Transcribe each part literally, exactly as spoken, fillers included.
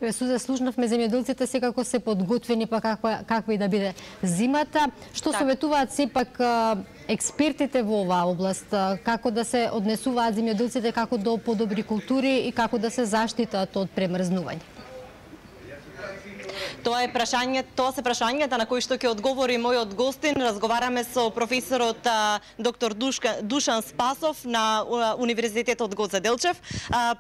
Сузе, слушнавме земјоделците секако се подготвени па каква каква и да биде зимата. Што советуваат сепак експертите во оваа област, како да се однесуваат земјоделците како до подобри култури и како да се заштитат од премрзнување? Тоа е прашање, тоа се прашањата на кои што ќе одговори мојот гостин. Разговараме со професорот доктор Душка, Душан Спасов на Универзитетот Гоце Делчев.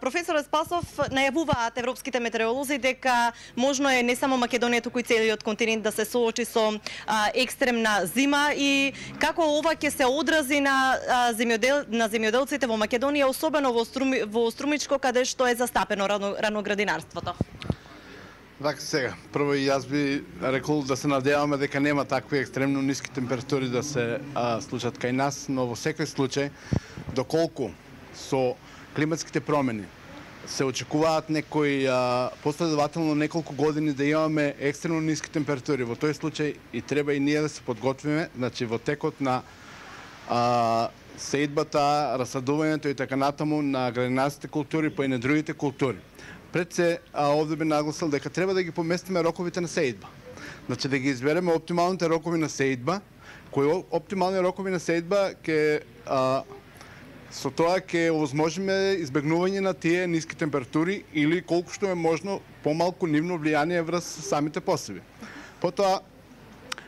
Професорот Спасов, најавуваат европските метеоролози дека можно е не само Македонија, туку и целиот континент да се соочи со екстремна зима и како ова ќе се одрази на земјодел на земјоделците во Македонија, особено во Струми, во Струмичко, каде што е застапено рано, раноградинарството. Така сега, прво и јас би рекол да се надеваме дека нема такви екстремно ниски температури да се а, случат кај нас, но во секој случај, доколку со климатските промени се очекуваат некои а, последователно неколку години да имаме екстремно ниски температури, во тој случај и треба и ние да се подготвиме, значи во текот на а, сеидбата, расадувањето и така натаму на градинарските култури, па и на другите култури. Пред се, а, овде би нагласил дека треба да ги поместиме роковите на сеидба. Значи да ги избереме оптималните рокови на сеидба, кои оптимални рокови на сеидба ќе а, со тоа ќе овозможиме избегнување на тие ниски температури или колку што е можно помалку нивно влијание врз самите посеви. Потоа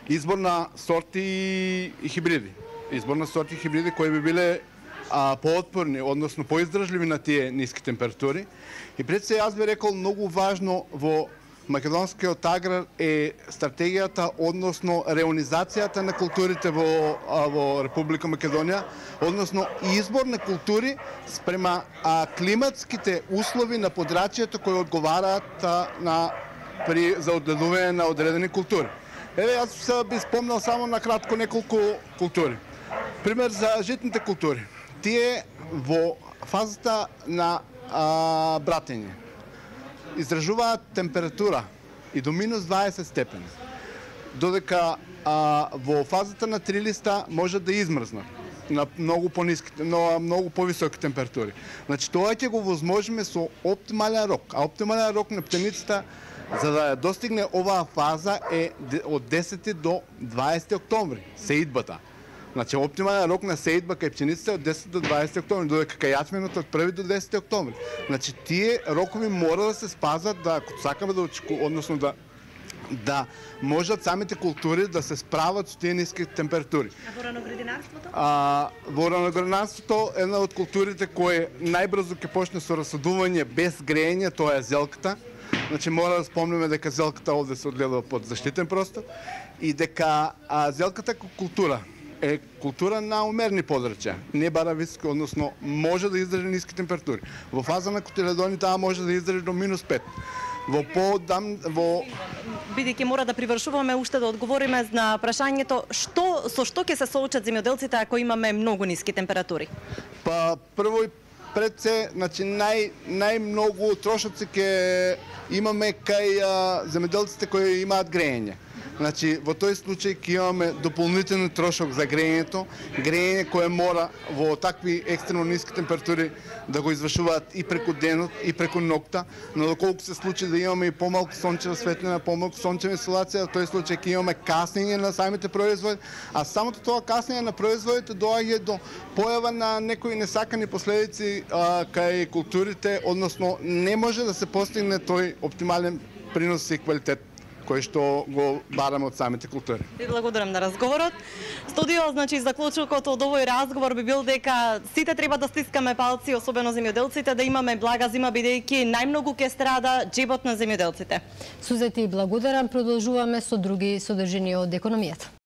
избор на сорти и хибриди. Избор на сорти и хибриди кои би биле а, поотпорни, односно поиздржливи на тие ниски температури. И пред се јас би рекол многу важно во македонскиот аграр е стратегијата, односно реонизацијата на културите во, а, во Република Македонија, односно избор на култури спрема а, климатските услови на подрачјето кои одговараат а, на, при, за одгледување на одредени култури. Еве, јас би спомнал само на кратко неколку култури. Пример за житните култури. Тие во фазата на а, братење издржуваат температура и до минус дваесет степени, додека а, во фазата на трилиста може да измрзнат на многу пониски, на многу повисоки температури. Значи тоа ќе го возможиме со оптимален рок, а оптимален рок на птеницата за да ја достигне оваа фаза е од десети до дваесети октомври, сеидбата. Значи, оптимален рок на сеидба кај пченицата е од десети до дваесети октомври, додека кај јачменот од први до десети октомври. Значи, тие рокови мора да се спазват, да, ако сакаме да очеку, односно да да можат самите култури да се справат со тие ниски температури. А во раноградинарството? А, во раноградинарството една од културите кои најбрзо ќе почне со расадување без грејење, тоа е зелката. Значи, мора да спомнеме дека зелката овде се одгледува под заштитен простор и дека а, зелката култура е култура на умерни подрачја, не бара високи, односно може да издржи ниски температури. Во фаза на котиледони таа може да издржи до минус пет. Во подам во бидејќи мора да привршуваме уште да одговориме на прашањето што со што ќе се соочат земјоделците ако имаме многу ниски температури. Па прво и пред се, значи нај најмногу трошоци ќе имаме кај а, земјоделците кои имаат грејење. Значи, во тој случај ќе имаме дополнителен трошок за грејењето, грејење кое мора во такви екстремно ниски температури да го извршуваат и преку денот и преку ноќта, но доколку се случи да имаме и помалку сончева светлина, помалку сончева инсолација, во тој случај ќе имаме каснење на самите производи, а самото тоа каснење на производите доаѓа до појава на некои несакани последици а, кај културите, односно не може да се постигне тој оптимален принос и квалитет кој што го бараме од самите култури. Ви благодарам на разговорот. Студио, значи, заклучокот од овој разговор би бил дека сите треба да стискаме палци, особено земјоделците, да имаме блага зима, бидејќи најмногу ќе страда џебот на земјоделците. Сузе, ти благодарам, продолжуваме со други содржини од економијата.